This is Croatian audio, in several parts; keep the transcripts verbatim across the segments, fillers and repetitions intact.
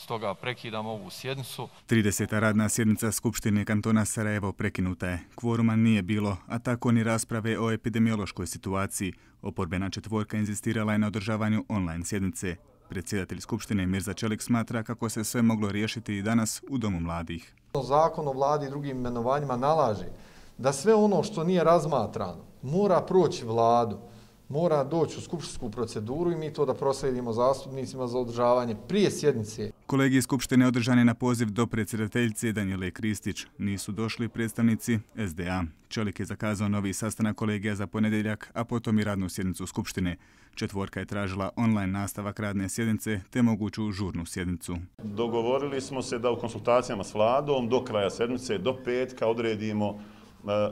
stoga prekidam ovu sjednicu. trideseta radna sjednica Skupštine kantona Sarajevo prekinuta je. Kvoruma nije bilo, a tako ni rasprave o epidemiološkoj situaciji. Oporbena četvorka inzistirala je na održavanju online sjednice. Predsjedatelj Skupštine Mirza Čelik smatra kako se sve moglo riješiti i danas u Domu mladih. Zakon o vladi i drugim imenovanjima nalaže da sve ono što nije razmatrano mora proći vladu, mora doći u skupštinsku proceduru i mi to da proslijedimo zastupnicima za održavanje prije sjednice. Kolegij Skupštine održan je na poziv do predsjedateljice Danijele Kristić. Nisu došli predstavnici S D A. Čelik je zakazao novi sastanak kolegija za ponedjeljak, a potom i radnu sjednicu Skupštine. Četvorka je tražila online nastavak radne sjednice te moguću žurnu sjednicu. Dogovorili smo se da u konsultacijama s vladom do kraja sedmice, do petka odredimo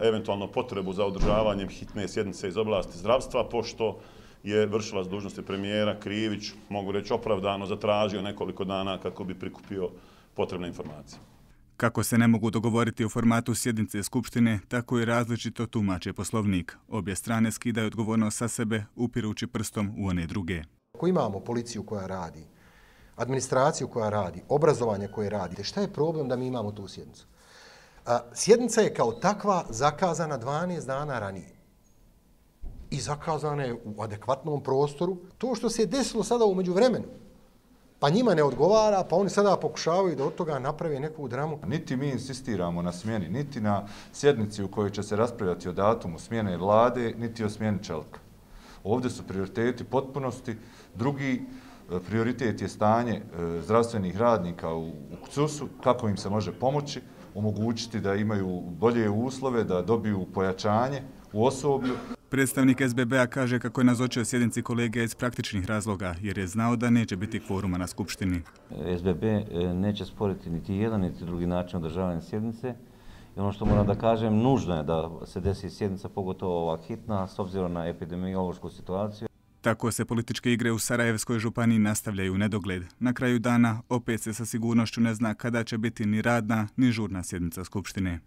eventualno potrebu za održavanjem hitne sjednice iz oblasti zdravstva, pošto je vršilac dužnosti premijera Krivić, mogu reći opravdano, zatražio nekoliko dana kako bi prikupio potrebne informacije. Kako se ne mogu dogovoriti o formatu sjednice Skupštine, tako i različito tumače Poslovnik. Obje strane skidaju odgovornost sa sebe, upirući prstom u one druge. Ako imamo policiju koja radi, administraciju koja radi, obrazovanje koje radi, šta je problem da mi imamo tu sjednicu? Sjednica je kao takva zakazana dvanaest dana ranije. I zakazana je u adekvatnom prostoru. To što se je desilo sada u međuvremenu, pa njima ne odgovara, pa oni sada pokušavaju da od toga naprave neku dramu. Niti mi insistiramo na smjeni, niti na sjednici u kojoj će se raspravljati o datumu smjene vlade, niti o smjeni Čelika. Ovdje su prioriteti potpunosti. Drugi prioritet je stanje zdravstvenih radnika u K C U S-u, kako im se može pomoći, omogućiti da imaju bolje uslove, da dobiju pojačanje u osoblju. Predstavnik S B B-a kaže kako je nazočio sjednici kolegija iz praktičnih razloga, jer je znao da neće biti kvoruma na Skupštini. S B B neće sporiti niti jedan, niti drugi način održavanja sjednice. I ono što moram da kažem, nužno je da se desi sjednica, pogotovo ova hitna, s obzirom na epidemiološku situaciju. Tako se političke igre u Sarajevskoj županiji nastavljaju u nedogled. Na kraju dana opet se sa sigurnošću ne zna kada će biti ni radna, ni žurna sjednica Skupštine.